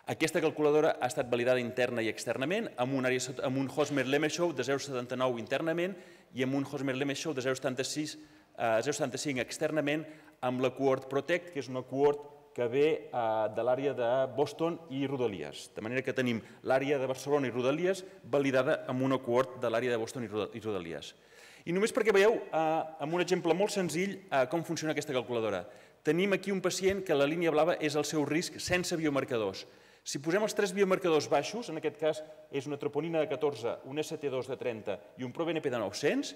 Aquesta calculadora ha estat validada interna i externament amb un Hosmer-Lemeshow de 0,79 internament i amb un Hosmer-Lemeshow de 0,75 externament amb la cohort Protect, que és una cohort que ve de l'àrea de Boston i Rodalies. De manera que tenim l'àrea de Barcelona i Rodalies validada amb una cohort de l'àrea de Boston i Rodalies. I només perquè veieu amb un exemple molt senzill com funciona aquesta calculadora. Tenim aquí un pacient que la línia blava és el seu risc sense biomarcadors. Si posem els 3 biomarcadors baixos, en aquest cas és una troponina de 14, un ST2 de 30 i un ProBNP de 900,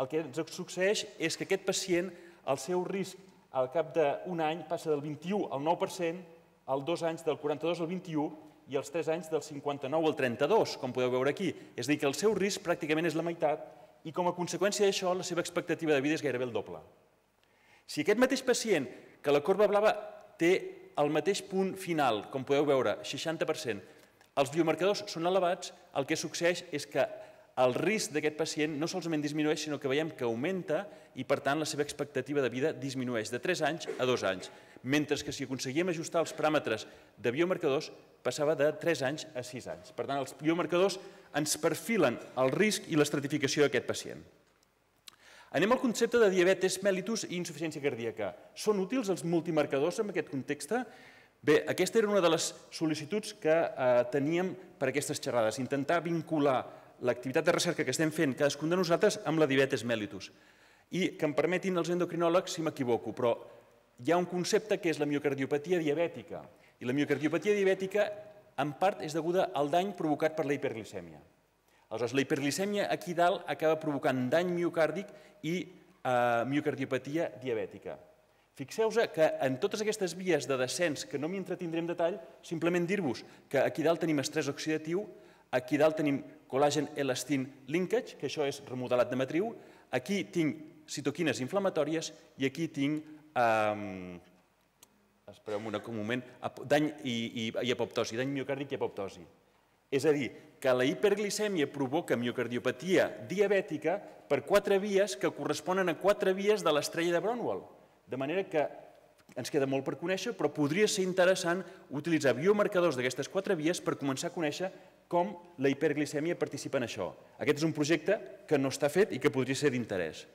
el que ens succeeix és que aquest pacient, el seu risc al cap d'un any passa del 21 al 9%, als 2 anys del 42 al 21 i als 3 anys del 59 al 32, com podeu veure aquí. És a dir, que el seu risc pràcticament és la meitat i com a conseqüència d'això la seva expectativa de vida és gairebé el doble. Si aquest mateix pacient, que la corba blava té el mateix punt final, com podeu veure, 60%, els biomarcadors són elevats, el que succeeix és que el risc d'aquest pacient no solament disminueix, sinó que veiem que augmenta i, per tant, la seva expectativa de vida disminueix de 3 anys a 2 anys, mentre que si aconseguíem ajustar els paràmetres de biomarcadors passava de 3 anys a 6 anys. Per tant, els biomarcadors ens perfilen el risc i l'estratificació d'aquest pacient. Anem al concepte de diabetes mellitus i insuficiència cardíaca. Són útils els multimarcadors en aquest context? Bé, aquesta era una de les sol·licituds que teníem per aquestes xerrades, intentar vincular l'activitat de recerca que estem fent cadascun de nosaltres amb la diabetes mellitus. I que em permetin els endocrinòlegs si m'equivoco, però hi ha un concepte que és la miocardiopatia diabètica. I la miocardiopatia diabètica, en part, és deguda al dany provocat per la hiperglicèmia. Aleshores, la hiperglicèmia aquí dalt acaba provocant dany miocàrdic i miocardiopatia diabètica. Fixeu-vos que en totes aquestes vies de descens, que no m'hi entretindré en detall, simplement dir-vos que aquí dalt tenim estrès oxidatiu, aquí dalt tenim col·làgen elastin linkage, que això és remodelat de matriu, aquí tinc citoquines inflamatòries i aquí tinc, espereu un moment, dany i apoptosi, dany miocàrdic i apoptosi. És a dir, que la hiperglicèmia provoca miocardiopatia diabètica per 4 vies que corresponen a 4 vies de l'estrella de Bronwell. De manera que ens queda molt per conèixer, però podria ser interessant utilitzar biomarcadors d'aquestes 4 vies per començar a conèixer com la hiperglicèmia participa en això. Aquest és un projecte que no està fet i que podria ser d'interès.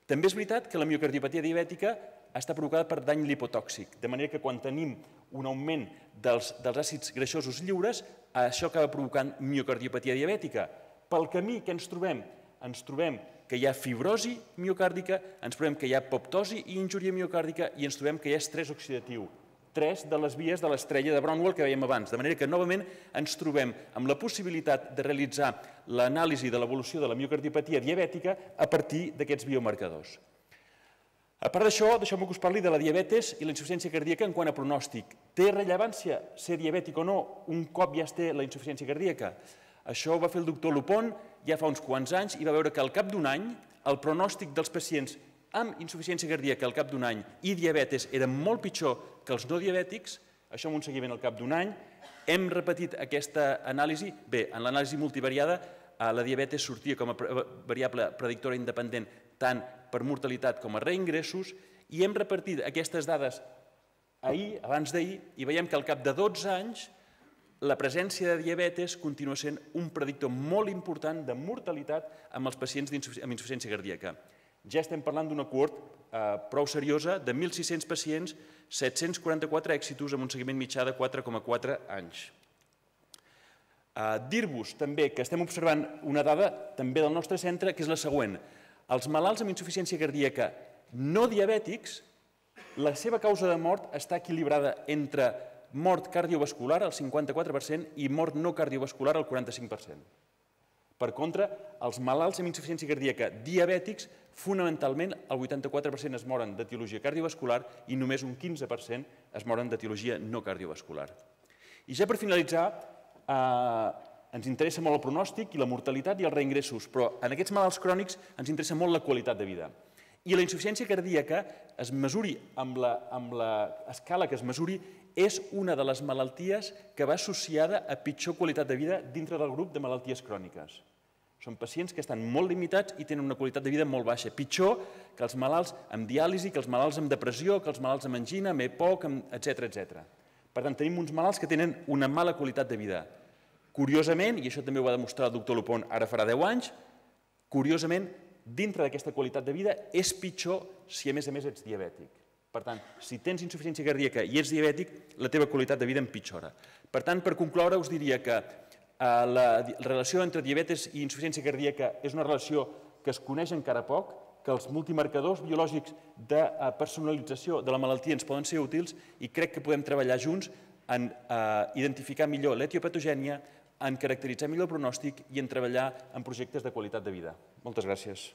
També és veritat que la miocardiopatia diabètica està provocada per dany lipotòxic, de manera que quan tenim un augment dels àcids greixosos lliures, això acaba provocant miocardiopatia diabètica. Pel camí que ens trobem que hi ha fibrosi miocàrdica, ens trobem que hi ha apoptosi i injúria miocàrdica i ens trobem que hi ha estrès oxidatiu. 3 de les vies de l'estrella de Bronwell que vèiem abans, de manera que novament ens trobem amb la possibilitat de realitzar l'anàlisi de l'evolució de la miocardiopatia diabètica a partir d'aquests biomarcadors. A part d'això, deixeu-me que us parli de la diabetes i la insuficiència cardíaca en quant a pronòstic. Té rellevància ser diabètic o no un cop ja es té la insuficiència cardíaca? Això ho va fer el doctor Lupon ja fa uns quants anys i va veure que al cap d'un any el pronòstic dels pacients amb insuficiència cardíaca al cap d'un any i diabetes era molt pitjor que els no diabètics, això amb un seguiment al cap d'un any. Hem repetit aquesta anàlisi. Bé, en l'anàlisi multivariada la diabetes sortia com a variable predictora independent tant per mortalitat com a reingressos i hem repartit aquestes dades ahir, abans d'ahir, i veiem que al cap de 12 anys la presència de diabetes continua sent un predictor molt important de mortalitat amb els pacients amb insuficiència cardíaca. Ja estem parlant d'una cohort prou seriosa de 1.600 pacients, 744 èxitos amb un seguiment mitjà de 4,4 anys. Dir-vos també que estem observant una dada també del nostre centre, que és la següent. Els malalts amb insuficiència cardíaca no diabètics, la seva causa de mort està equilibrada entre mort cardiovascular, el 54%, i mort no cardiovascular, el 45%. Per contra, els malalts amb insuficiència cardíaca diabètics, fonamentalment, el 84% es moren d'etiologia cardiovascular i només un 15% es moren d'etiologia no cardiovascular. I ja per finalitzar, ens interessa molt el pronòstic i la mortalitat i els reingressos, però en aquests malalts crònics ens interessa molt la qualitat de vida. I la insuficiència cardíaca, es mesuri amb l'escala que es mesuri, és una de les malalties que va associada a pitjor qualitat de vida dintre del grup de malalties cròniques. Són pacients que estan molt limitats i tenen una qualitat de vida molt baixa, pitjor que els malalts amb diàlisi, que els malalts amb depressió, que els malalts amb angina, amb EPOC, etc. Per tant, tenim uns malalts que tenen una mala qualitat de vida. Curiosament, i això també ho va demostrar el doctor Lupon ara farà 10 anys, curiosament, dintre d'aquesta qualitat de vida és pitjor si a més ets diabètic. Per tant, si tens insuficiència cardíaca i ets diabètic, la teva qualitat de vida empitjora. Per tant, per concloure, us diria que la relació entre diabetes i insuficiència cardíaca és una relació que es coneix encara poc, que els multimarcadors biològics de personalització de la malaltia ens poden ser útils i crec que podem treballar junts en identificar millor l'etiopatogènia, en caracteritzar millor el pronòstic i en treballar en projectes de qualitat de vida. Moltes gràcies.